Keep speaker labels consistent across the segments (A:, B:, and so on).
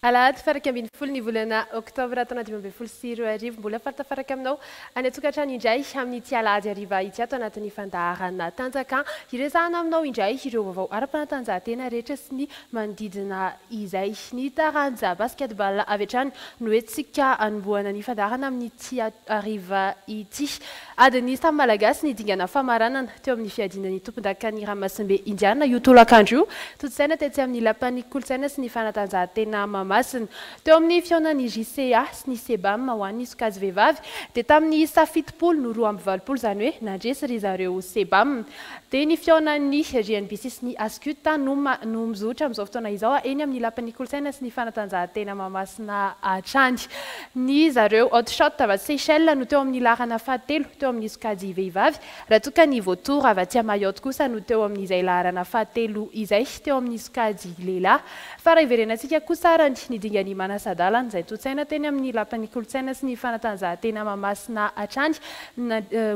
A: Alahady faha 11 ny volana oktobra taona 2015, mbola faly tafaraka aminao any an-tokantrano indray amin'ity alahady hariva ity ato anatin'ny fandaharana Tanjaka. Hiresahana aminao indray ireo vaovao ara-panatanjahantena rehetra sy ny manodidina izay. Ny taranja basketball avy hatrany no hetsika hanombohana ny fandaharana amin'ity hariva ity. Adin'ny samy Malagasy ny dingana famaranana teo amin'ny fiadiana ny tompondakan'ny ranomasimbe Indiana io tolakandro io, tontosaina tetsy amin'ny Lapan'ny Kolontsaina sy ny Fanatanjahantena Mahamasina. Teo amin'ny fihaonan'ny JCA sy ny Sebam ho an'ny sokajy vehivavy dia tamin'ny isa 70 no 82, izany hoe nandresy ry zareo Sebam. Dia ny fihaonan'ny JNBC sy ny Ascut no no mizotra amin'izao fotoana izao eny amin'ny Lapan'ny Kolontsaina sy ny Fanatanjahantena Mahamasina hatrany. Ny zareo Hot Shot avy atsy Seychelles no teo amin'ny laharana fahatelo teo amin'ny sokajy vehivavy, raha toa ka ny Vautour avy atsy Mayotte kosa no teo amin'izay laharana fahatelo izay teo amin'ny sokajy lehilahy. Fa raha hiverenantsika kosa arany ny dingan'ny manasa-dalana izay tontosaina teny amin'ny Lapan'ny Kolontsaina sy ny Fanatanjahantena Mahamasina hatrany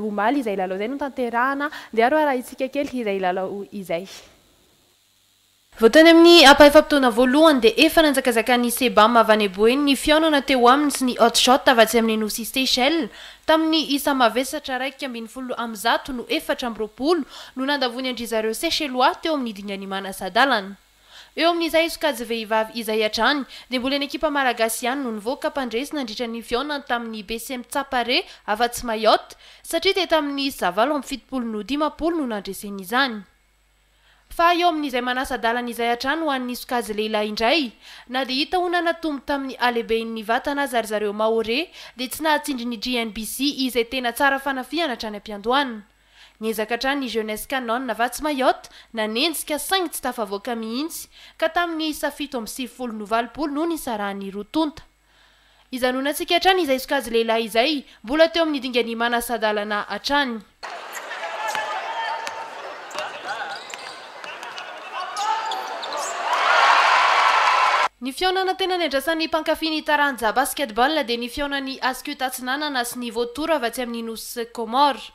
A: omaly izay lalao izay notanterahana, dia aro arahintsika kely izay lalao izay.
B: Vao tany amin'ny ampahefa-potoana voalohany dia efa nanjakazakan'ny Sebam avy any Boeny ny fihaonana teo aminy sy ny Hot Shot avy atsy amin'ny Nosy Seychelles. Tamin'ny isa mavesatra 111 no 24 no nandavoany an-dry zareo Seychellois teo amin'ny dingan'ny manasa-dalana. Eo amin'izay sokajy vehivavy izay hatrany dia mbola ny ekipa malagasy ihany no nivoaka mpandresy nandritra ny fihaonany tamin'ny BCM Tsapare afa-tsy Mayotte satria dia tamin'ny isa 78 no 50 no nandreseny izany. Fa eo amin'izay manasa-dalana izay hatrany ho an'ny sokajy lehilahy indray, na dia hita ho nanatombo tamin'ny halehibehin'ny vatana aza ry zareo Mahorais dia tsy nahatsindry ny GNBC izay tena tsara fanafihana hatrany am-piandohana. Niezaka hatrany ny Jeunesse Canon Vatsy Mayotte nanenjika saingy tsy tafavoaka mihitsy ka tamin'ny isa 97 no 80 no nisarahan'ny roa tonta. Hijanonantsika hatrany izay sokajy lehilahy izay mbola teo amin'ny dingan'ny manasa-dalana hatrany. Ny fihaonana tena niandrasan'ny mpankafy ny taranja basketball dia ny fihaonan'ny Ascut Atsinanana sy ny Vautour avy atsy amin'ny Nosy Comores.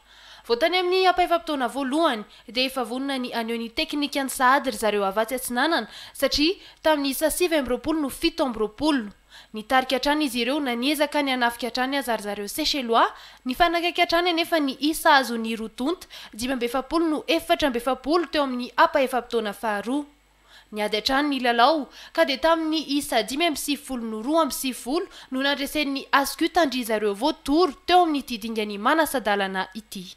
B: Vao tany amin'ny ampahefa-potoana voalohany dia efa vonona ny haneho ny teknikany sahady ry zareo avy atsy Atsinanana satria tamin'ny isa 29 no 27. Nitarika hatrany izy ireo na niezaka ny hanafika hatrany aza ry zareo Seychellois, nifanakaiky hatrany anefa ny isa azon'ny roa tonta, 45 no 44 teo amin'ny ampahefa-potoana faharoa. Niady hatrany ny lalao ka dia tamin'ny isa 95 no 92 no nandresen'ny Ascut an-dry zareo Vautour teo amin'ity dingan'ny manasa-dalana ity.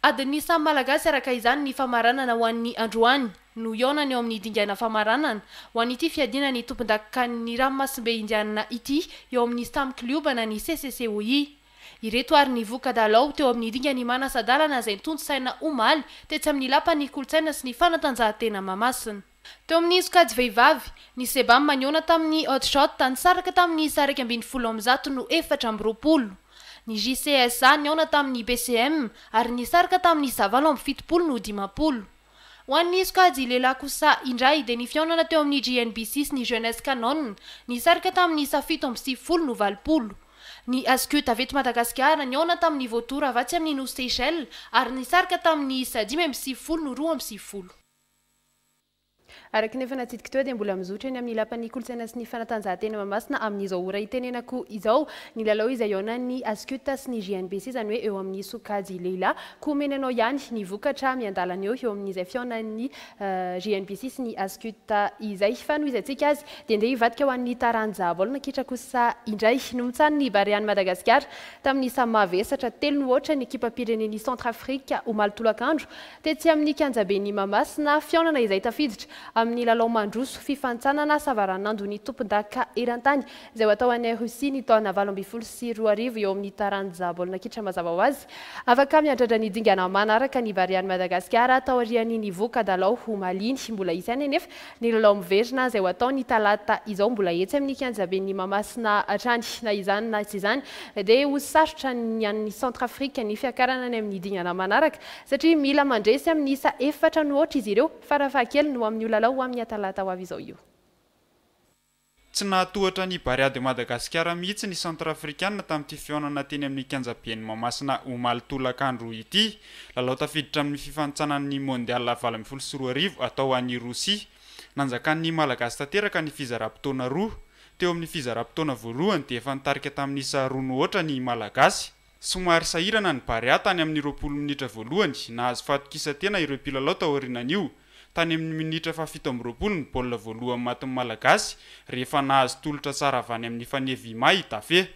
B: Adin'ny samy Malagasy araka izany ny famaranana ho an'ny androany no hihaonana eo amin'ny dingana famaranana ho an'ity fiadiana ny tompondakan'ny ranomasimbe Indianina ity eo amin'ny samy klioba na ny CCCOI. Ireto ary ny voka-dalao teo amin'ny dingan'ny manasa-dalana izay notontosaina omaly tetsy amin'ny Lapan'ny kolontsaina sy ny fanatanjahantena Mahamasina. Teo amin'ny sokajy vehivavy, ny Sebam nihaona tamin'ny Hot Shot nisaraka tamin'ny isa 111 no 24. Ny JCSA nihaona tamin'ny BCM ary nisaraka tamin'ny isa 78 no 50. Ho an'ny sokajy lehilahy kosa indray dia ny fihaonana teo amin'ny JNBC sy ny Jeunesse Canon nisaraka tamin'ny isa 97 no 80. Ny Ascut avy eto Madagasikara nihaona tamin'ny Vautour avy atsy amin'ny Nosy Seychelles ary nisaraka tamin'ny isa 95 no 92.
A: Araka ny efa natsidiko teo dia mbola mizotra eny amin'ny Lapan'ny Kolontsaina sy ny Fanatanjahantena Mahamasina amin'izao ora itenenako izao ny lalao izay hihaonan'ny Ascut sy ny JNBC izany hoe eo amin'ny sokajy lehilahy. Koa omena anao ihany ny vokatra miandalana eo eo amin'izay fihaonan'ny JNBC sy ny Ascut izay. Fa nohizantsika azy dia ndeha hivadika ho an'ny taranja baolina kitra kosa indray. Nomontsanin'ny Barean'i Madagasikara tamin'ny isa mavesatra telo no aotra ny ekipam-pirenen'i Centrafrique omaly tolakandro Tetsy amin'ny kianjaben'i Mahamasina, fihaonana izay tafiditra amin'ny lalao mandroso fifanintsanana savaranandon'ny tompondaka eran-tany izay ho atao any Russie ny taona 2018 eo amin'ny taranja baolina kitra mazava ho azy. Afaka miandrandra ny dingana manaraka ny Barean'i Madagasikara taorian'ny nivoaka-dalao omaly iny. Mbola hisy ihany anefa ny lalao miverina izay ho atao ny talata izao mbola etsy amin'ny kianjaben'i Mahamasina hatrany. Na izany na tsy izany dia ho sarotra ny an'ny Centrafrique ny fiakarana any amin'ny dingana manaraka satria mila mandresy amin'ny isa efatra no aotra izy ireo farafahakeliny ho amin'io lalao ho amin'ny talata ho avy izao io.
C: Tsy nahatohatra ny Barea de Madagasikara mihitsy ny Centrafrikanina tamin'ity fihaonana teny amin'ny kianjaben'i Mahamasina omaly tolakandro ity. Lalao tafiditra amin'ny fifanintsanan'ny Mondial 2018 atao any Rosia. Nanjakan'ny Malagasy tanteraka ny fizaram-potoana roa. Teo amin'ny fizaram-potoana voalohany dia efa nitarika tamin'ny isa roa no aotra ny Malagasy. Somary sahirana ny Barea tany amin'ny 20 minitra voalohany, nahazo fahatokisan-tena ireo mpilalao taorianan'io. Tany amin'ny minitra faha-27 ny baolina voalohany matin'ny Malagasy, rehefa nahazo tolotra tsara avy any amin'ny Faneva Ima i Dafe.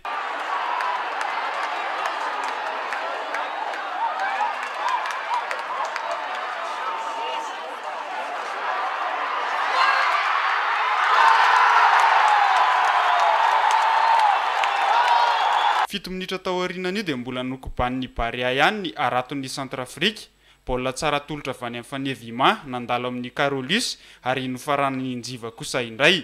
C: Fito minitra taorianan'io dia mbola nokobanin'ny Barea ihany ny haraton'ny Centrafrique. Baolina tsara atolotra avy any amin'ny Faneva Ima, nandalo amin'i Carolus ary nofaranan'i Njiva kosa indray.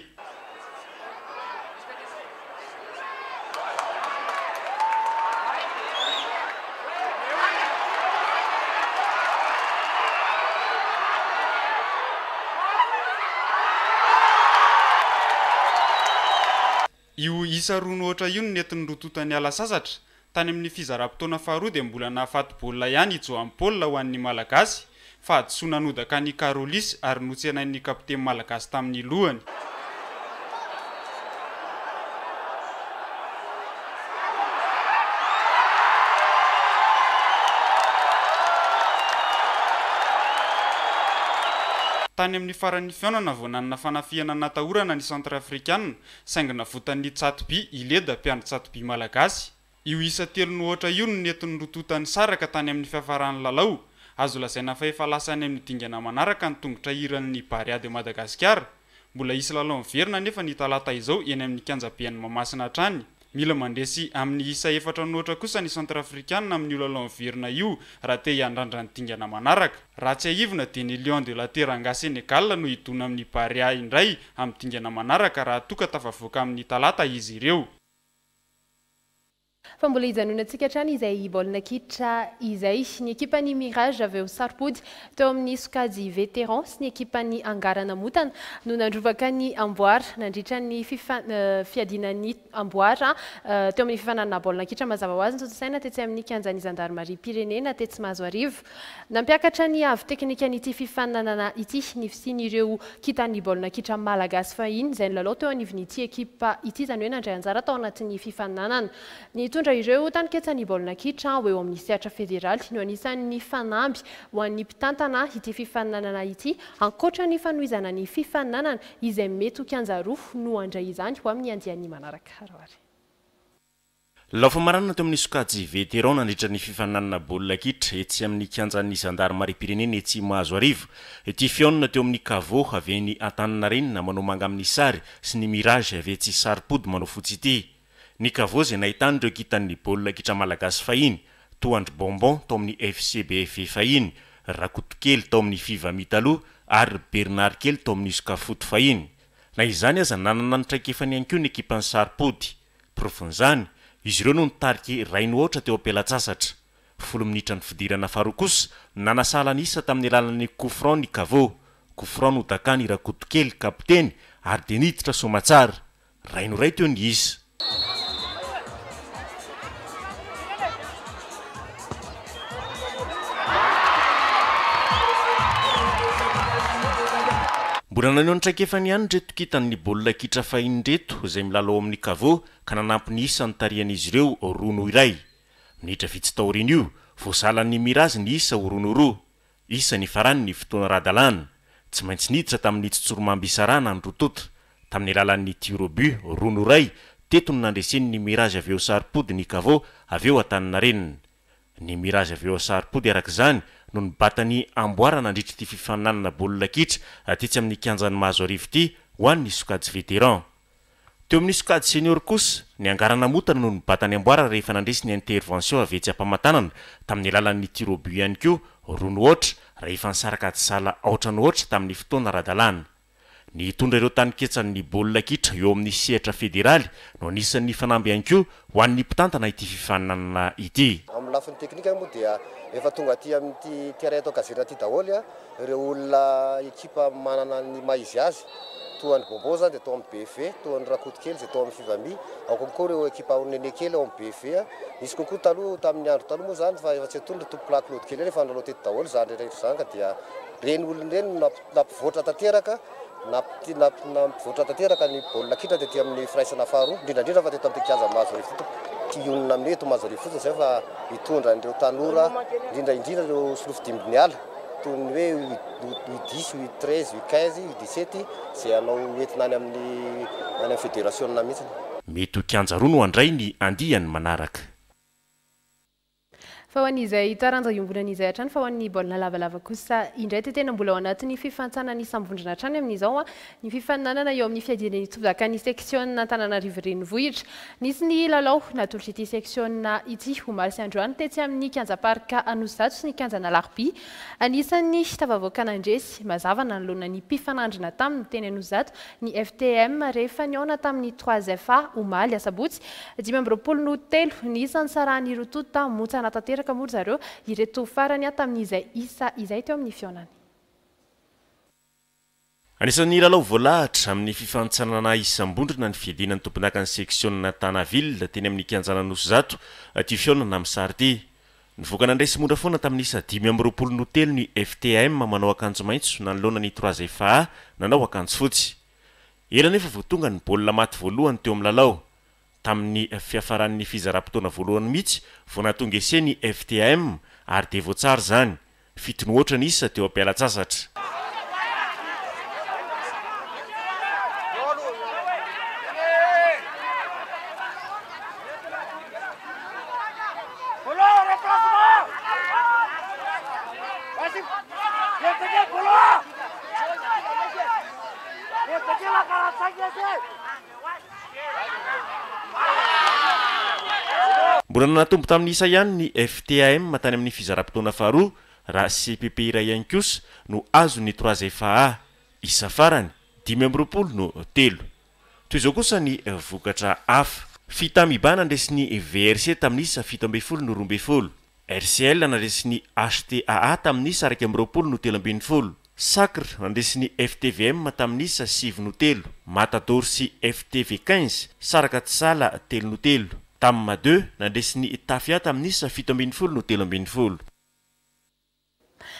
C: Io isa roa no aotra io no nentin'ny roa tonta niala sasatra. Tany amin'ny fizaram-potoana faharoa dia mbola nahafaty baolina ihany i Joan Paul ho an'ny Malagasy. Fahadisoana nodaka an'i Karolis ary notsenain'ny kapiteny malagasy tamin'ny lohany. Tany amin'ny faran'ny fihaonana vao nanana fanafihana natahorana ny Centrafrikanina saingy navotan'ny Tsatoby i Leda mpiandry tsatoby malagasy. Io isa telo no aotra io no nentin'ny roa tonta nisaraka tany amin'ny fiafaran'ny lalao. Azo lazaina fa efa lasa any amin'ny dingana manaraka ny tongotra hiran'ny Barea de Madagasikara. Mbola hisy lalao miverina anefa ny talata izao eny amin'ny kianjaben'i Mahamasina hatrany. Mila mandresy amin'ny isa efatra no aotra kosa ny Centrafrikanina amin'io lalao miverina io raha te hiandrandra ny dingana manaraka. Raha tsiahivina dia ny Lion de la Teranga Sénégal no hidona amin'ny Barea indray amin'ny dingana manaraka raha toa ka tafavoaka amin'ny talata izy ireo.
A: Fa mbola hijanonantsika hatrany izay baolina kitra izay. Ny ekipan'ny Mirage avy eo Saropody teo amin'ny sokajy vétéran sy ny ekipan'ny Angarana Motana no nandrombaka ny amboara nandritra ny fiadiana ny amboara teo amin'ny fifaninanana baolina kitra mazava ho azy notontosaina tetsy amin'ny kianjan'ny zandarimariam-pirenena tetsy Mahazoarivo. Nampiakatra ny avo teknikan'ity fifaninanana ity ny fisian'ireo kintan'ny baolina kitra malagasy fahiny izay nilalao teo anivon'ity ekipa ity, izany hoe nandray anjara tao anatin'ny fifaninanana. Nitondra ireo taninketsan'ny baolina kitra ho eo amin'ny sehatra federaly no anisan'ny fanamby ho an'ny mpitantana ity fifaninanana ity, ankoatra ny fanohizana ny fifaninanana izay mety ho kianja roa no handray izany ho amin'ny andiany manaraka. Raoary.
D: Lalao famaranana teo amin'ny sokajy Vétéran nandritra ny fifaninanana baolina kitra etsy amin'ny kianjan'ny zandarimariam-pirenena etsy Mahazoarivo. Ity fihaonana teo amin'ny Cavo avy eny Antaninarenina manao manga amin'ny sary sy ny Mirage avy etsy Saropody manao fotsy ity. Ny Cavo izay nahitana ireo kintan'ny baolina kitra malagasy fahiny toa an-dry Bonbon tao amin'ny FCBFV fahiny, Rakotokely tao amin'ny Fivami taloha ary ry Bernard kely tao amin'ny Uscafoot fahiny. Na izany aza nanana ny traikefany ihany koa ny ekipan'ny Saropody. Porofon'izany, izy ireo no nitarika iray no aotra teo am-pelantsasatra. Folo minitra ny fidirana faharoa kosa, nanasahala ny isa tamin'ny alalan'ny coup franc ny Cavo. Coup franc nodakan'i Rakotokely, kapiteny, ary dia niditra soamatsara. Iray no iray teo ny isa. Mbola naneho ny traikefany ihany ireto kintan'ny baolina kitra fahiny ireto izay milalao ao amin'ny Cavo ka nanampy ny isa nitarihan'izy ireo roa noho iray. Minitra vitsy taorian'io, voasalan'ny Mirage ny isa ho roa noho roa. Isa nifarany ny fotoana ara-dalàna. Tsy maintsy niditra tamin'ny tsotsoromamby isarahana ny roa tonta. Tamin'ny alalan'ny tir au but roa noho iray, teto no nandresen'ny Mirage avy eo Saropody ny Cavo avy eo Antaninarenina. Ny Mirage avy eo Saropody araka izany no nibata ny amboara nandritra ity fifaninanana baolina kitra tetsy amin'ny kianjan'i Mahazoarivo ity ho an'ny sokajy vétéran. Teo amin'ny sokajy senior kosa, ny Angarana Motana no nibata ny amboara rehefa nandresy ny Intervention avy etsy Ampamatanana tamin'ny alalan'ny tir au but ihany koa roa no aotra raha efa nisaraka ady sahala aotra no aotra tamin'ny fotoana ara-dalàna. Ny hitondra ireo taninketsan'ny baolina kitra eo amin'ny sehatra federaly no anisan'ny fanamby ihany koa ho an'ny mpitantana ity fifaninanana ity.
E: Amin'ny lafiny teknika moa dia efa tonga aty amin'ity terrain ato Ankazirina ity daholo ireo olona ekipa manana ny maha izy azy. Toa an'i Bonbon izany dia tao amin'ny BFV, toa an'i Rakotokely izay tao amin'ny Fivami, ao konkoa ireo ekipa Onene kely ao amin'ny BFV. Nisy konkoa taloha, tamin'ny andro taloha moa izany fa efa tsy antonona ry Tompokolahy Claude kely ireny efa nilalao teto daholo izany rehetra izany ka dia ireny olona ireny no nampivoatra tanteraka, nampivoatra tanteraka ny baolina kitra tety amin'ny firaisana faharoa, indrindra indrindra fa teto amin'ity kianja Mahazoarivo ity tompoko. Tsy hionona amin'ny hoe eto Mahazoarivo fotsiny izay fa hitondra an'ireo tanora, indrindra indrindra ireo solofo dimbin'ny ala. Toy ny hoe U dix, U treize, U quinze, U dix sept izay hanao hoentina any amin'ny any amin'ny federasiona mihitsy.
D: Mety ho kianja roa no handray ny andiany manaraka.
A: Fa ho an'izay taranja iombonana izay hatrany fa ho an'ny baolina lavalava kosa indray dia tena mbola ao anatin'ny fifantsanan'ny samy vondrona hatrany amin'izao ny fifaninanana eo amin'ny fiadiana ny tompon-dakan'ny seksiona Antananarivo Renivohitra. Nisy ny lalao natolotr'ity seksiona ity omaly sy androany tetsy amin'ny kianja Parc Anosizato sy ny kianjan'Alarobia. Anisan'ny tafavoaka nandresy mazava nanoloana ny mpifanandrina taminy teny Anosizato ny FTM rehefa nihaona tamin'ny Trois FA omaly asabotsy 25 no telo ny isa nisarahan'ny roa tonta montsana tanteraka moa ry zareo ireto farany tamin'izay isa izay teo amin'ny fihaonany.
D: Anisan'ny lalao voalahatra amin'ny fifanintsanana isam-bondrona ny fiadiana ny tompondakan'ny seksiona Tana Ville teny amin'ny kianjan'Anosizato ity fihaonana amin'ny sary ity. Nivoaka nandresy mora foana tamin'ny isa 25 no telo ny FTAM manao akanjo maitso nanoloana ny Trois FA nanao akanjo fotsy. Ela anefa vao tonga ny baolina maty voalohany teo amin'ny lalao. Tamin'ny fiafaran'ny fizaram-potoana voalohany mihitsy vao nahatonga essai ny FTAM ary dia voatsara izany. Fito no oatra ny isa teo am-pialan-tsasatra. Mbola nanatombo tamin'ny isa ihany ny FTAM tany amin'ny fizaram-potoana faharoa raha CPP iray ihany kosa no azon'ny Trois FA. Isa farany, 25 no telo. Toy izao kosa ny vokatra hafa. Fitamiba nandresy ny VRC tamin'ny isa 17 no 12. RCL nandresy ny HTAA tamin'ny isa 21 no 13. Sacre nandresy ny FTVM tamin'ny isa 9 no telo. Matador sy FTV 15 saraka tsy sahala telo no telo. Tam deux nandresy ny Tafia tamin'ny isa 17 no 13.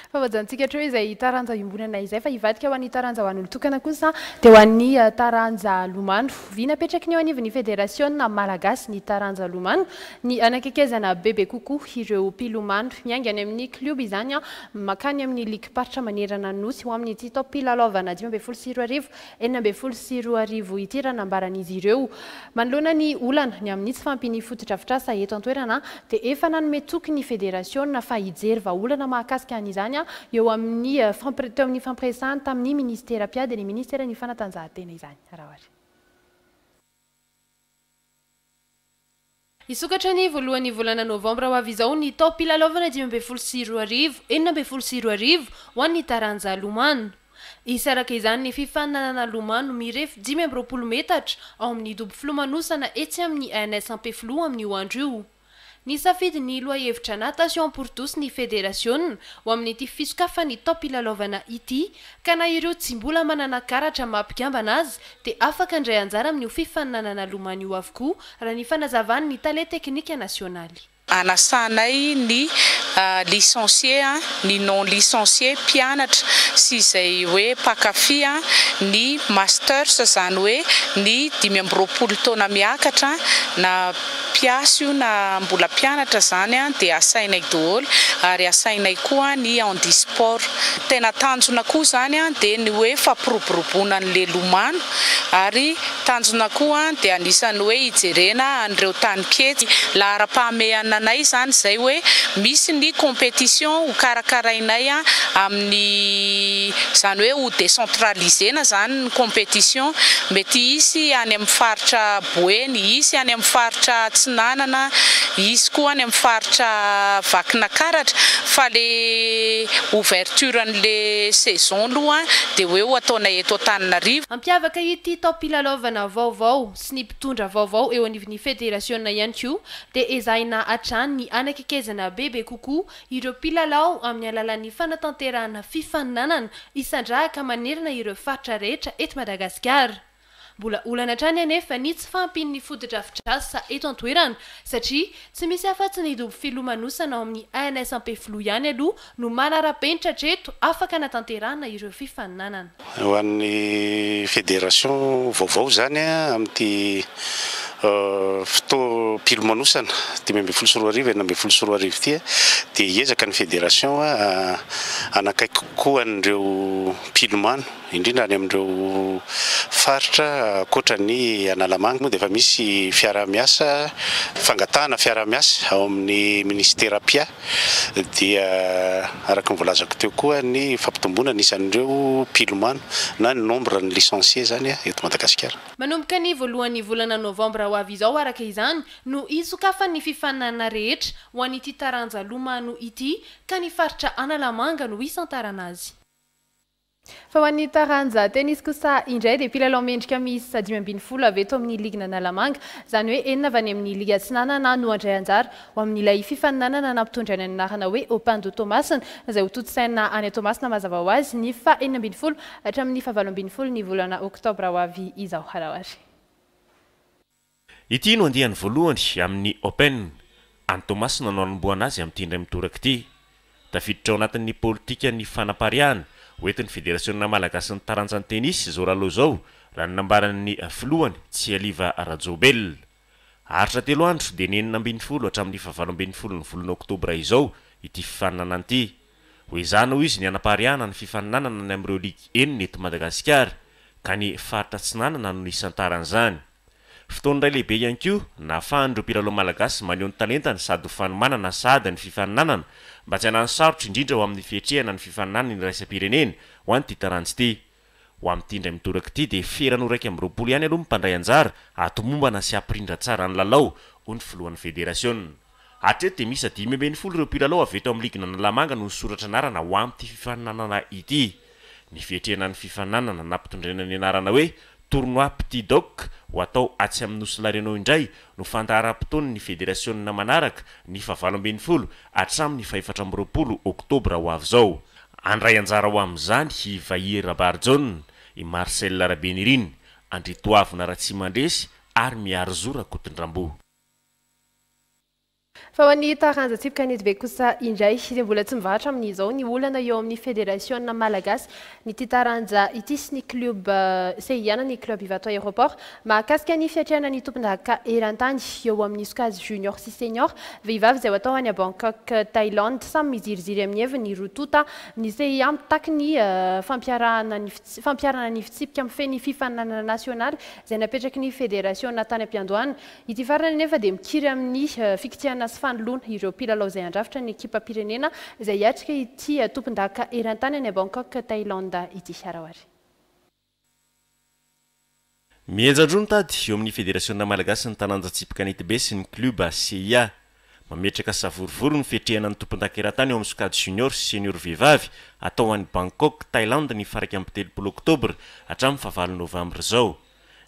A: Fa voajanontsika hatreo izay taranja iombonana izay fa hivadika ho an'ny taranja ho an'olon-tokana kosa dia ho an'ny taranja lomano. Vy napetraky ny eo anivon'ny federasiona malagasy ny taranja lomano ny hanakekezana bebe kokoa ireo mpilomano. Miainga any amin'ny klioba izany mankany amin'ny ligim-paritra manerana ny Nosy ho amin'ity taom-pilalaovana 2015 2016 ity raha nambaran'izy ireo. Manoloana ny olana ny amin'ny tsy fahampian'ny fotodrafitrasa eto an-toerana dia efa nanome toky ny federasiona fa hijery vahaolana mahakasika an'izany eo amin'ny teo amin'ny fampiresahany tamin'ny minisitera mpiady ny minisiteran'ny fanatanjahantena izany. Araho ary. Hisokatra ny voalohan'ny volana novambra ho avy izao ny taom-pilalaovana 2015, 2016 ho an'ny taranja lomano. Hisy araka izany ny fifaninanana lomano mirefy 25 metatra ao amin'ny dobo filomanosana etsy amin'ny ANS Ampefiloha amin'io andro io. Nisafidy ny lohahevitra Natation pour tous ny federasiona ho amin'ity fisokafan'ny taom-pilalaovana ity ka na ireo tsy mbola manana karatra maha mpikambana azy dia afaka handray anjara amin'io fifaninanana lomano io avokoa raha ny fanazavan'ny tale teknika nasionaly.
F: Anasanay ny licencié, ny non licencié, mpianatra sy izay hoe mpankafy, ny masters izany hoe ny 25 taona miakatra na mpiasa io na mbola mpianatra izany dia asainay daholo ary asainay koa ny handisport. Tena tanjona koa izany dia ny hoe fampiroboroboana an'ilay lomano ary tanjona koa dia anisan'ny hoe hijerena an'ireo taninketsy. Laharam-pahamehana anay izany izay hoe misy ny compétition ho karakarainay amin'ny izany hoe ho décentraliser-na izany ny compétition. Mety hisy any amin'ny faritra Boeny, hisy any amin'ny faritra Atsinanana, Hisy koa any amin'ny faritra Vakinakaratra fa le ouverture an'le saison aloha dia hoe ho ataonay eto Antananarivo.
B: Hampiavaka ity taom-pilalaovana vaovao sy ny mpitondra vaovao eo anivon'ny federasiona ihany koa dia ezahina hatrany ny hanakekezana bebe kokoa ireo mpilalao amin'ny alalan'ny fanatanterahana fifaninanana isandrahaka manerana ireo faritra rehetra eto Madagasikara. Mbola olana hatrany anefa ny tsy fahampian'ny fotodrafitrasa eto an-toerana satria tsy misy afa-tsy ny dobo filomanosana ao amin'ny ANS Ampefiloha ihany aloha no manara-penitra hatreto afaka hanatanterahana ireo fifaninanana.
G: Ho an'ny federation vaovao izany amin'ity fotoam-pilomanosana 2015 2016 ity dia hiezaka ny federation hanakaiky kokoa an'ireo mpilomano indrindra any amin'ireo faritra ankoatra ny Analamanga moa dia efa misy fiaraha-miasa, fangatahana fiaraha-miasa ao amin'ny minisitera mpiahy dia araka ny voalazako teo koa ny fampitomboana ny isan'ireo mpilomano na ny nombre ny licenciés izany eto Madagasikara.
B: Manomboka ny voalohan'ny volana novambra ho avy izao araka izany no hisokafan'ny fifaninanana rehetra ho an'ity taranja lomano ity ka ny faritra Analamanga no hisantarana azy.
A: Fa ho an'ny taranja tenisy kosa indray dia mpilalao mendrika miisa 15 avy eto amin'ny ligin'Analamanga, izany hoe enina avy any amin'ny ligy atsinanana no handray anjara ho amin'ilay fifaninanana nampitondraina ny anarana hoe Open de Toamasina, izay hotontosaina any Toamasina mazava ho azy ny faha 16 hatramin'ny faha 18 ny volana oktobra ho avy izao. Harahary.
D: Ity no andiany voalohany amin'ny Open. Any Toamasina no hanombohana azy amin'ity indray mitoraka ity. Tafiditra ao anatin'ny politikan'ny fanapariahana hoentin'ny Federasionina malagasin'ny taranjan'ny tenisy izao lalao izao, raha ny nambaran'ny filohany, Tsialiva Rajaobelina. Haharitra telo andro, dia ny 16 hatramin'ny fahavalo ambin'ny folo ny volana oktobra izao ity fifaninanana ity. Hoezahina, hoy izy, ny hanapariahana ny fifaninanana any amin'ireo ligy enina eto Madagasikara, ka ny faritra Atsinanana no nisantaran'izany. Fotoana iray lehibe ihany koa nahafahan'ireo mpilalao malagasy maneho ny talentany sady ho fanomanana sahady ny fifaninanana mba tsy hanano sarotra indrindra ho amin'ny fiatrehana ny fifaninanana iraisam-pirenena ho an'ity taranja ity. Ho amin'ity indray mitoraka ity dia ferana ho 21 ihany aloha ny mpandray anjara hahatomombana sy hampirindra tsara ny lalao, hoy ny filohan'ny federasiona. Hatreto dia miisa 15 ireo mpilalao avy eto amin'ny ligin'Analamanga no nisoratra anarana ho amin'ity fifaninanana ity. Ny fiatrehana ny fifaninanana nampitondraina ny anarana hoe Tournoi Petit Doc ho atao atsy amin'ny Nosy La Réunion indray no fandaharam-potoan'ny federasionina manaraka ny fahavalo ambin'ny folo hatramin'ny faha-24 oktobra ho avy izao. Handray anjara ho amin'izany i Vahia Rabarijaona, i Marcel Rabenirina, Andriatoavina Ratsimandresy ary Miarizo Rakotondrambo.
A: Fa ho an'ny taranja tsipy kanetibe kosa indray dia mbola tsy mivahatra amin'izao ny olana eo amin'ny federasiona malagasy ny ity taranja ity sy ny club CIA na ny club Ivato Aéroport mahakasika ny fiatrehana ny tompondaka eran-tany eo amin'ny sokajy junior sy senior vehivavy izay ho atao any Bangkok Thaïlande. Samy miziriziry amin'ny heviny ny roa tonta. Ny CIA mitaky ny fampiarahana ny fampiharana ny fitsipika mifehy ny fifaninanana nasionaly izay napetraky ny federasiona tany am-piandohana. Ity farany anefa dia mikiry amin'ny fikitihana sy fanoloana ireo mpilalao izay handrafitra ny ekipam-pirenena izay hiatrika ity tompondaka eran-tany any Bangkok, Thaïlande ity. Araoary.
D: Mihenjan-droa ny tady eo amin'ny Federasiona malagasy ny taranja tsipy kanetibe sy ny klioba CIA. Mametraka savorovoro ny fiatrehana ny tompondaka eran-tany eo amin'ny sokajy junior sy senior vehivavy atao any Bangkok, Thaïlande ny faha 31 oktobra hatramin'ny fahavalo novambra izao.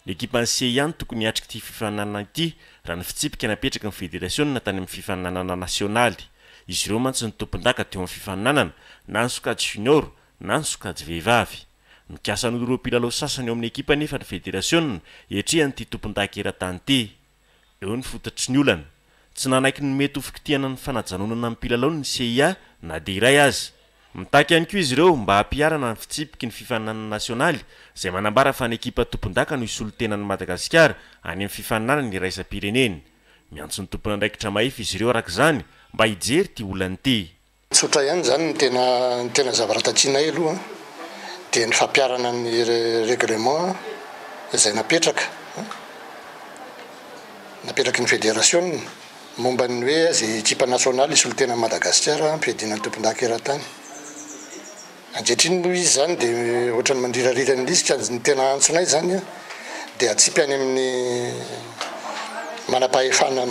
D: Ny ekipan'ny CIA no tokony hiatrika ity fifaninanana ity raha ny fitsipika napetraky ny federasiona tany amin'ny fifaninanana nasionaly. Izy ireo mantsy no tompondaka teo amin'ny fifaninanana na ny sokajy junior na ny sokajy vehivavy. Mikasa hanolo ireo mpilalao sasany ao amin'ny ekipa anefa ny federasiona hiatrehany ity tompondaka eran-tany ity. Eo ny fototry ny olana. Tsy nanaiky ny mety ho fikitihana ny fanajanonana ny mpilalao ny CIA na dia iray aza. Mitaky ihany koa izy ireo mba hampiharana ny fitsipiky ny fifaninanana nasionaly izay manambara fa ny ekipa tompondaka no hisolo tena an'i Madagasikara any amin'ny fifaninanana iraisam-pirenena. Miantso ny tompon'andraikitra mahefa izy ireo araka izany mba hijery ity olana ity.
H: Tsotra ihany izany ny tena ny tena zavatra takianay aloha dia ny fampiharana ny règlement izay napetraka napetraky ny federasiona momba ny hoe izay ekipa nasionaly hisolo tena an'i Madagasikara hampiadiana ny tompondaka eran-tany. Ankehitriny moa izy izany dia ohatran'ny mandrirarira ny lisitra, ny tena antsonay izany dia atsipy any amin'ny manam-pahefana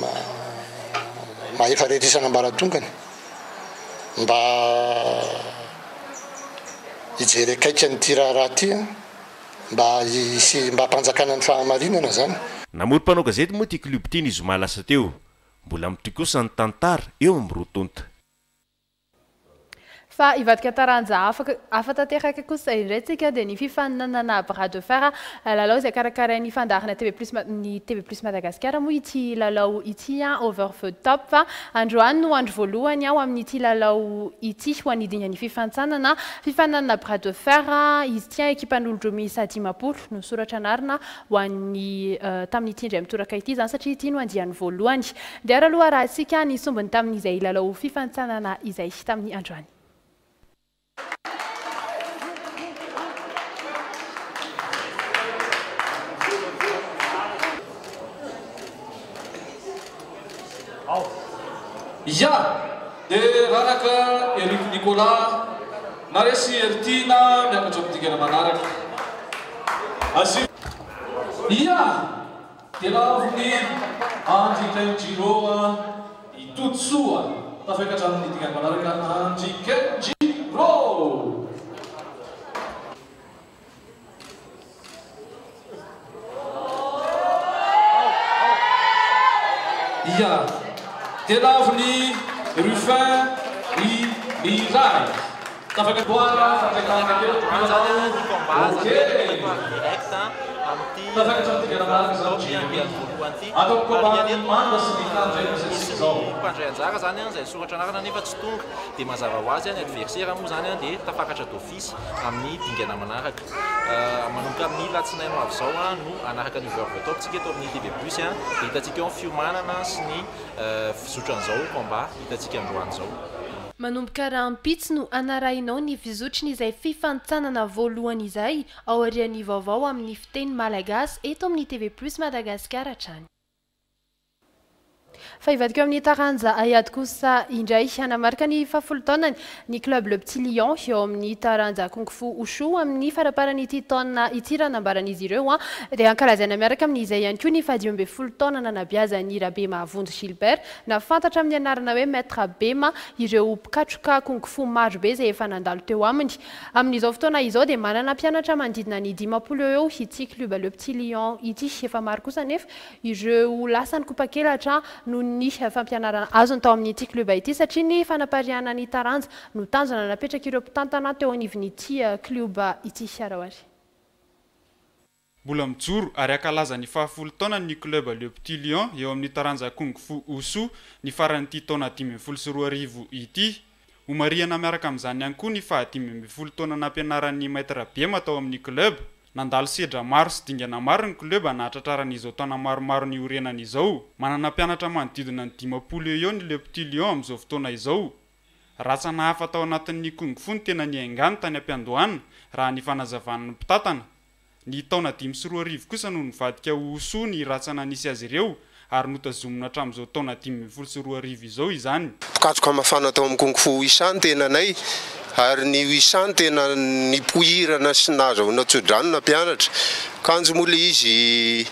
H: mahefa rehetra isan'ambaratongany mba hijery akaiky an'ity raharaha ity mba hisy mba hampanjakana ny fahamarinana izany.
D: Namory mpanao gazety moa ity club ity ny zoma lasa teo. Mbola mitohy kosa ny tantara eo amin'ny roa tonta.
B: Fa hivadika taranja hafa hafa tanteraka kosa indray tsika dia ny fifaninanana bras de fer, lalao izay karakarain'ny fandaharana TV plus ny TV plus Madagasikara moa ity lalao ity over the top. Androany no andro voalohany ho amin'ity lalao ity ho an'ny dingan'ny fifantsanana fifaninanana bras de fer izy ity ekipan'olon-droa miisa 50 no soratra anarana ho an'ny tamin'ity indray mitoraka ity izany satria ity no andiany voalohany. Dia ary aloha arahantsika ny sombiny tamin'izay lalao fifantsanana izay tamin'ny androany.
I: Ya! Dia raraka Eric Nicolas, naresy Heritiana miakatra amin'ny dingana manaraka. Asio. Ya! Dia lavon'i Andry Kenjiro i Todisoa, tafakatra amin'ny dingana manaraka Andry Kenjiro. Ia. Dia lavon'i Ruffin i Miray. Tafakatra Ok. Tafakatra amin'ny dingana manaraka izany Jeremy. Ato amin'ny combat-n'ny manga sy ny tany indray no misy antsika izao.
J: Mpandray anjara izany izay nisoratra anarana nefa tsy tonga dia mazava ho azy ny adversaire moa izany dia tafakatra d'office amin'ny dingana manaraka. Manomboka amin'ny latsinainy ho avy izao no hanaraka ny Over the Top tsika eto amin'ny TV Plus dia hitantsika eo ny fiomanana sy ny fizotran'izao combat hitantsika androany izao.
B: Manomboka rahampitso no hanarahinao ny fizotry ny izay fifanintsanana voalohany izay aorian'ny vaovao amin'ny fiteny malagasy eto amin'ny TV Plus Madagascar hatrany. Fa hivadika eo amin'ny taranja haiady kosa indray. Hanamarika ny fahafolo taonany ny Club Le Petit Lion eo amin'ny taranja Kung Fu Wushu amin'ny faramparan'ity taona ity raha nambaran'izy ireo dia ankalazaina miaraka amin'izay ihany koa ny fahadimy ambin'ny folo taona nanabeazan'i Rabemahavonjy Gilbert na fantatra amin'ny anarana hoe Maître Bema ireo mpikatroka Kung Fu maro be izay efa nandalo teo aminy. Amin'izao fotoana izao dia manana mpianatra manodidina ny 50 eo eo ity Club Le Petit Lion ity. Efa maro kosa anefa ireo lasa nikopakelatra noho ny fampianarana azony tao amin'ity club ity satria ny fanapariahana ny taranja no tanjona napetrak'ireo mpitantana teo anivon'ity club ity. Araoary.
C: Mbola mijoro ary ankalaza ny fahafolo taona ny club Le Petit Lion eo amin'ny taranja Kung Fu Wushu ny faran'ity taona 2015 ity. Homarihana miaraka amin'izany ihany koa ny faha-15 taona nampianaran'ny Maître Bema tao amin'ny club. Nandalo sedra maro sy dingana maro ny club nahatratraran'izao taona maromaro niorenany izao. Manana mpianatra manodidina ny 50 eo eo ny Le Petit Lion amin'izao fotoana izao. Rantsana hafa tao anatin'ny Kung Fu ny tena niaingany tany am-piandohana raha ny fanazavan'ny mpitantana. Ny taona 2005 kosa no nivadika ho Wushu ny rantsana nisy azy ireo ary notazomina hatramin'izao taona 2015 izao izany.
K: Mpikatroka mafana tao amin'ny Kung Fu Wisa ny tenanay ary ny Wisa no tena nipoirana sy nahazahoana tsodrano nampianatra. Kanjo moa ilay izy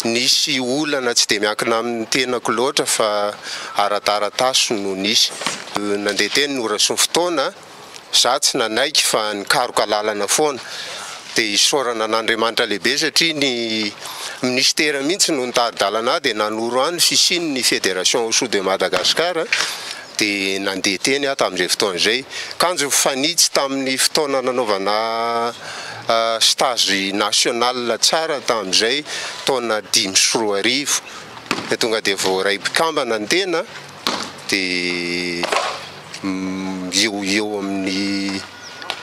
K: nisy olana tsy dia miankina amin'ny tenako loatra fa ara-taratasy no nisy. Nandeha teny ny ora sy ny fotoana. Za tsy nanaiky fa nikaroka lalana foana. Dia isaorana an'Andriamanitra lehibe satria ny minisitera mihitsy no nitari-dalana ahy dia nanoro ahy ny fisian'ny Fédération Wushu de Madagascar dia nandeha teny aho tamin'izay fotoana izay. Kanjo mifanitsy tamin'ny fotoana nanaovana stage national tsara tamin'izay taona 2005. Dia tonga dia voaray mpikambana ny tena dia eo ho eo amin'ny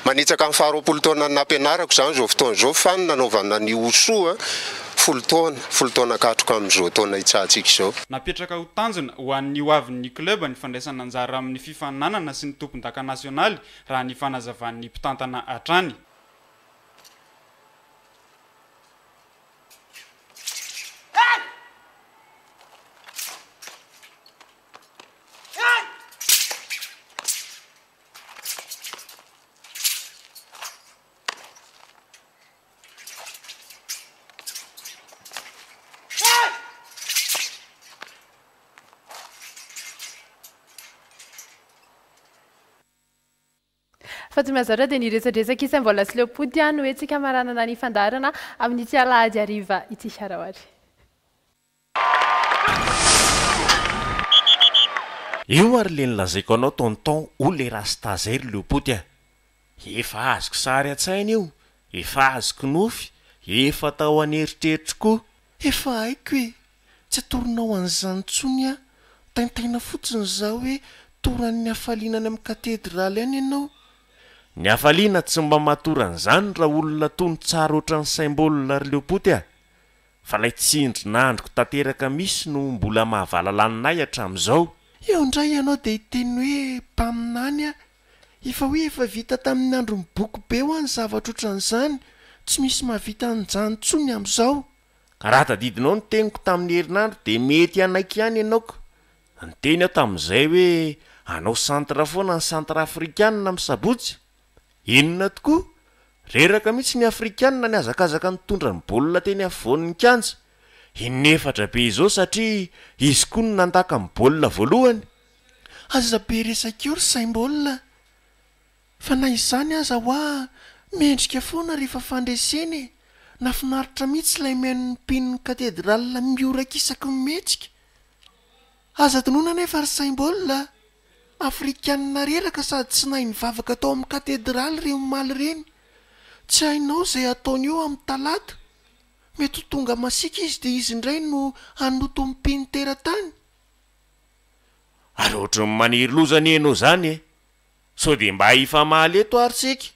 K: manitsaka ny faha-20 taona nampianarako izany izao fotoana izao fa ny nanaovana ny Wushu 10 taona, 10 taona katroka amin'izao taona hitsahantsika izao.
C: Napetraka ho tanjona ho an'ny ho avin'ny club ny fandraisana anjara amin'ny fifaninanana sy ny tompondaka nasionaly raha ny fanazavan'ny mpitantana hatrany.
A: Fa tsy mahazatra dia ny resadresaka isam-bola sy leo-pody no hetsika hamaranana ny fandaharana amin'ity alahady hariva ity. Araho ary.
D: Eo ary le nolazaiko anao tonton o le rasta zay ry leopoty a! Efa azoko sary an-tsaina io, efa azoko nofy, efa tao an'eritreritro koa.
L: Efa haiko e! Tsy atoronao an'izany intsony aho, taintaina fotsiny za hoe toran'ny hafaliana any amin'ny katedraly any ianao.
D: Ny hafaliana tsy mba matory an'izany raha olona tony tsara ohatran'ny saim-baolina ry leopoty a! Fa ilay tsindrin'andriko tanteraka misy no mbola mahavalalanina ahy hatramin'izao.
L: Eo indray ianao dia hiteny hoe mpaminany aho. Efa hoe efa vita tamin'ny andron'ny boky be hoa ny zavatra ohatran'izany, tsy misy mahavita an'izany intsony amin'izao.
D: Ka raha tadidinao ny teniko tamin'ny herinandro dia mety hanaiky ihany ianao ka. Niteny aho tamin'izay hoe hanao centre foana ny centrafrikanina amin'ny sabotsy. Inona tokoa? Reraka mihitsy ny Afrikanina nihazakazaka nitondra ny baolina teny afovoan'ny kianja. Inefatra be izao satria izy koa no nandaka ny baolina voalohany.
L: Aza be resaka eo ry saim-baolina fa na izany aza hoa mendrika foana rehefa fandresena e! Nafinaritra mihitsy ilay mihaino ny mpinon'ny katedrala mihoraka isaky ny mihetsika. Aza adinoina anefa ry saim-baolina a! Afrikanina reraka sady tsy nahay nivavaka tao amin'ny katedraly ireny omaly ireny. Tsy hainao izay hataony eo amin'ny talata. Mety ho tonga masiaka izy dia izy indray no hanoto ny mpino teratany.
D: Ary ohatran'ny maniry loza anie ianao izany e! Sao dia mba hifamaly eto ary tsika?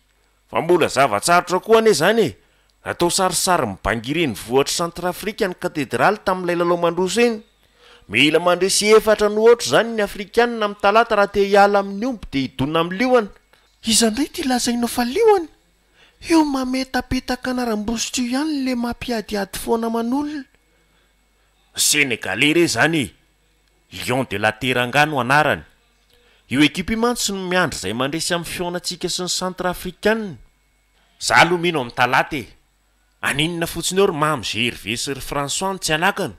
D: Fa mbola zava-tsarotra koa anie izany e! Natao sarisary mibangy renivohitr'i Centrafrique ny katedraly tamin'ilay lalao mandroso iny. Mila mandresy efatra no aotra izany ny Afrikanina amin'ny talata raha te hiala amin'ny omby dia hidona amin'ny liona.
L: Iza indray ity lazainao fa liona? Io mametapetaka anaram-bositra io ihany le mampiadiady foana aman'olona.
D: Senegalais re izany e! Lion de la Teranga no anarany. Io ekipa io mantsy no miandry izay mandresy amin'ny fihaonantsika sy ny Centrafricaine. Za aloha mino amin'ny talata e! Aninona fotsiny eo ry Mamy Gervais sy ry François no tsy hanakana?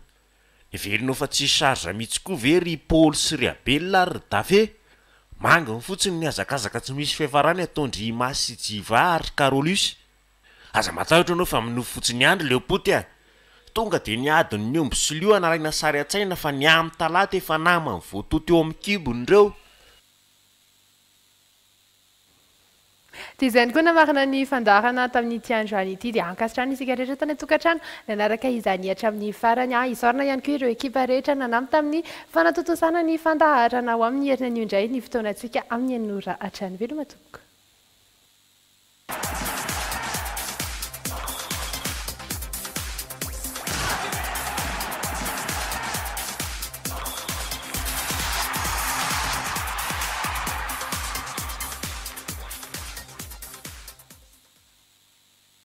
D: Heverinao fa tsisy charge mihitsy koa ve ry Paoly sy ry Abel ary ry Dafe? Manginy fotsiny ny hazakazaka tsy misy fiafarany ataon-dry Imasy sy Jiva ary ry Carolus. Aza matahotra anao fa minofy fotsiny ihany ry Leopoty a! Tonga dia ny adin'ny omby sy liona alaina sary an-tsaina fa ny amin'ny talata efa naman'ny voatoto eo amin'ny kibony ireo.
A: Dia izay ihany koa namarana ny fandaharana tamin'ity androany ity. Dia ankasitrahana isika rehetra tany an-tokantrano nanaraka izany hatramin'ny farany. Isaorana ihany koa ireo ekipa rehetra nanampy tamin'ny fanatontosana ny fandaharana. Ho amin'ny herinanio indray ny fotoanantsika amin'ny enina ora hatrany. Veloma tompoko.